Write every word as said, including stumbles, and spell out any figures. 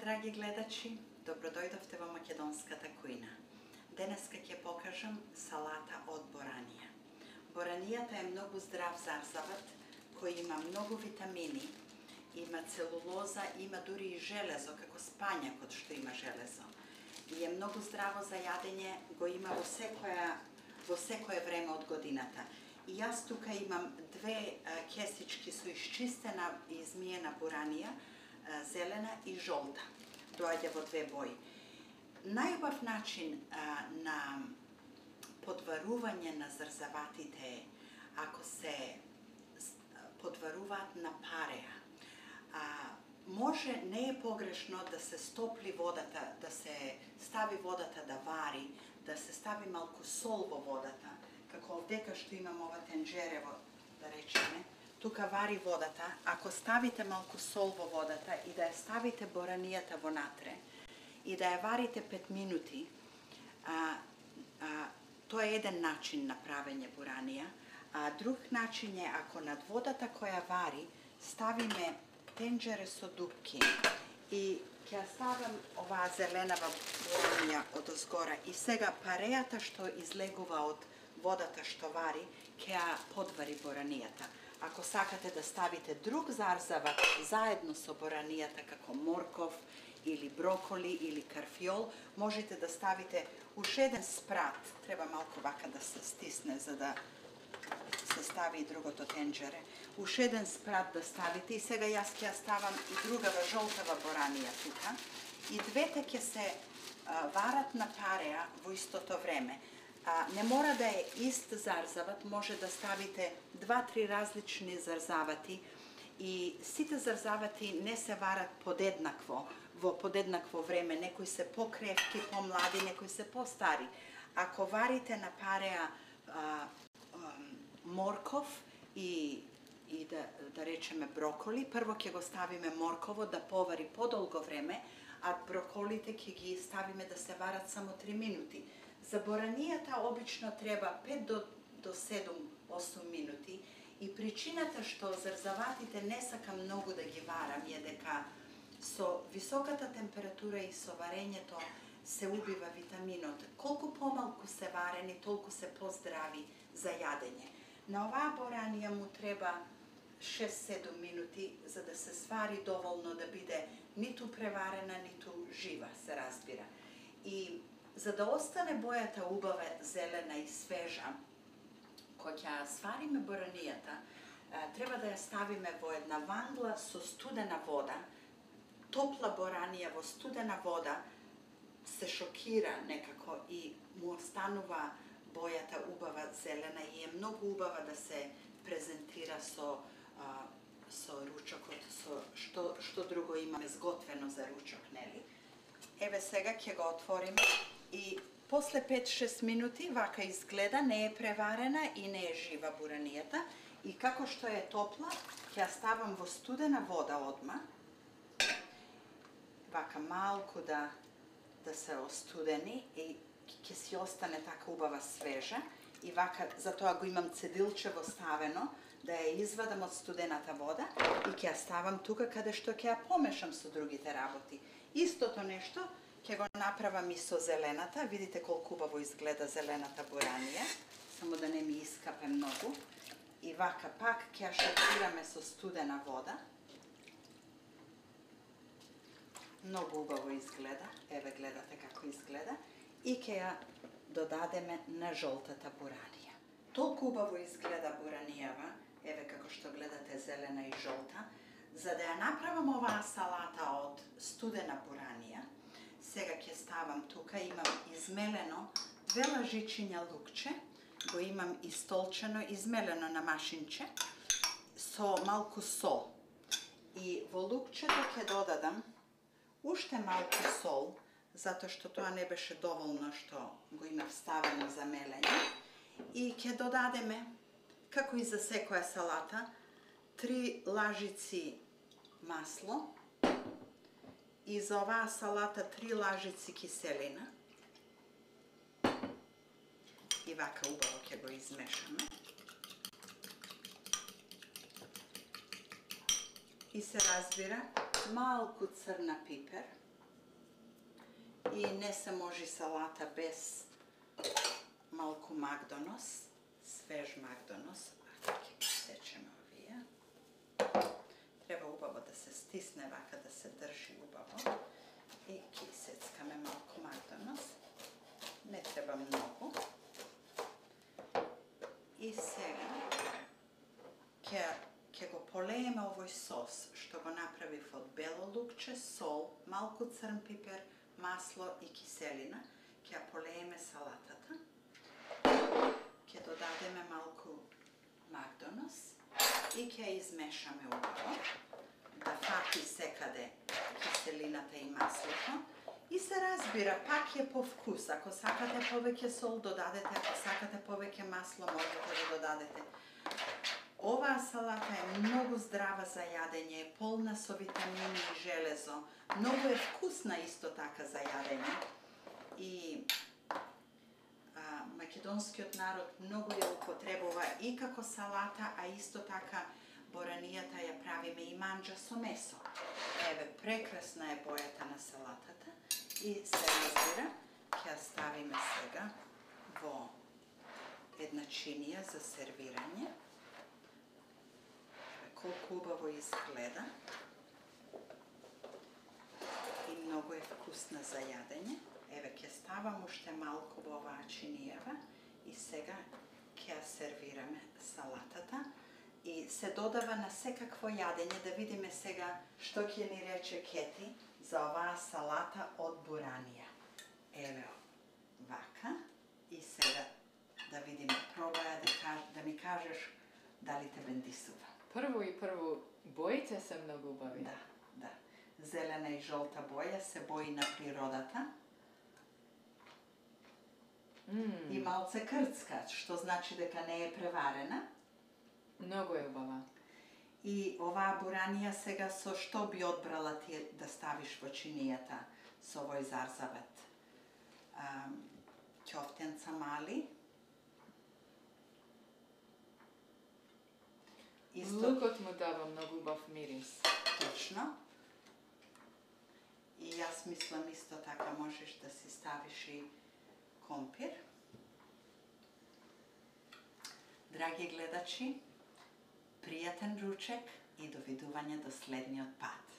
драги гледачи, добродојдовте во македонската кујна. Денеска ќе покажам салата од боранија. Боранијата е многу здрав зарзават, кој има многу витамини, има целулоза, има дури и железо, како спањакот што има железо. И е многу здраво за јадење, го има во секоја, во секое време од годината. И јас тука имам две кесички со исчистена и измиена боранија, зелена и жолта. Доаѓа во две бои. Најубав начин а, на подварување на зарзаватите е ако се подваруваат на пареа. А, може, не е погрешно да се стопли водата, да се стави водата да вари, да се стави малку сол во водата, како овдека што имам ова тенџерево, да речеме, тука вари водата, ако ставите малку сол во водата и да ја ставите боранијата вонатре и да ја варите пет минути, а, а, тоа е еден начин на правење боранија, а друг начин е ако над водата која вари ставиме тенџере со дупки и ќе ја ставам оваа зеленава боранија од озгора и сега парејата што излегува од водата што вари, ќе ја подвари боранијата. Ако сакате да ставите друг зарзават заедно со боранијата, како морков, или броколи, или карфиол, можете да ставите уш еден спрат. Треба малку вака да се стисне, за да се стави и другото тенџере. Уш еден спрат да ставите и сега јас ќе ја ставам и другава жолтава боранија тука. И двете ќе се а, варат на пареа во истото време. А, не мора да е ист зарзават, може да ставите два-три различни зарзавати и сите зарзавати не се варат подеднакво, во подеднакво време, некои се покревки, помлади, некои се постари. Ако варите на пареа а, а, морков и, и да, да речеме броколи, прво ќе го ставиме морково да повари подолго време, а броколите ќе ги ставиме да се варат само три минути. За боранијата обично треба пет до седум-осум минути и причината што зарзаватите не сакам многу да ги варам е дека со високата температура и со варењето се убива витаминот. Колку помалку се варени, толку се поздрави за јадење. На оваа боранија му треба шест-седум минути за да се свари доволно да биде ниту преварена, ниту жива, се разбира. И за да остане бојата убава, зелена и свежа, кога ќе свариме боранијата, треба да ја ставиме во една вангла со студена вода. Топла боранија во студена вода се шокира некако и му останува бојата убава зелена и е многу убава да се презентира со а, со ручокот, со што што друго имаме сготвено за ручок, нели? Еве сега ќе го отвориме и после пет-шест минути вака изгледа, не е преварена и не е жива буранијата. И како што е топла, ќе ја ставам во студена вода одма. Вака малку да да се остудени и ќе си остане така убава свежа. И вака, затоа го имам цедилчево ставено, да ја извадам од студената вода и ќе ја ставам тука каде што ќе ја помешам со другите работи. Истото нешто ќе го направам и со зелената. Видите колку убаво изгледа зелената боранија, само да не ми искапе многу. И вака пак ќе ја шокираме со студена вода. Многу убаво изгледа, еве гледате како изгледа. И ќе ја додадеме на жолтата боранија. Толку убаво изгледа боранијава, еве како што гледате зелена и жолта. За да ја направам оваа салата од студена боранија, сега ќе ставам тука, имам измелено две лажичиња лукче, го имам истолчено, измелено на машинче, со малку сол. И во лукчето ќе додадам уште малку сол, затоа што тоа не беше доволно што го имав ставено за мелење. И ќе додадеме, како и за секоја салата, три лажици масло и за оваа салата три лажици киселина. И вака убаво ќе го измешаме. И се разбира малку црна пипер. И не се може салата без малку магдонос, свеж магдонос. Ако ќе ги сечеме овие. Треба убаво да се стисне вака, да се држи убаво. И ќе сецкаме малку магдонос. Не треба многу. И сега ќе ќе го полееме овој сос што го направив од бело лукче, сол, малку црн пипер, масло и киселина. Ќе ја полееме салатата. Ќе додадеме малку магдонос и ќе ја измешаме убаво да фати секаде киселината и маслото. И се разбира, пак е по вкус. Ако сакате повеќе сол, додадете. Ако сакате повеќе масло, можете да додадете. Оваа салата е многу здрава за јадење, е полна со витамини и железо. Многу е вкусна исто така за јадење. И а, македонскиот народ многу ја употребува и како салата, а исто така боранијата ја правиме и манџа со месо. Еве, прекрасна е бојата на салатата. И се разбира, ќе ја ставиме сега во една чинија за сервирање. Колку убаво изгледа. И многу е вкусна за јадење. Еве, ќе ставам уште малку во оваа чинијава и сега ќе ја сервираме салатата. И се додава на секакво јадење, да видиме сега што ќе ни рече Кети за оваа салата од буранија. Еве, вака. И сега да видиме, пробаја да, каж, да ми кажеш дали те бендисува. Прво и прво, боите се многу убави. Да, да. Зелена и жолта боја се бои на природата. Mm. И малце крцка, што значи дека не е преварена. Многу е убава. И оваа буранија сега со што би одбрала ти да ставиш во чинијата со овој зарзавет? Ќофтенца мали. Исто... Лукот му дава многу убав мирис. Точно. И јас мислам исто така можеш да си ставиш и компир. Драги гледачи, пријатен ручек и довидување до следниот пат.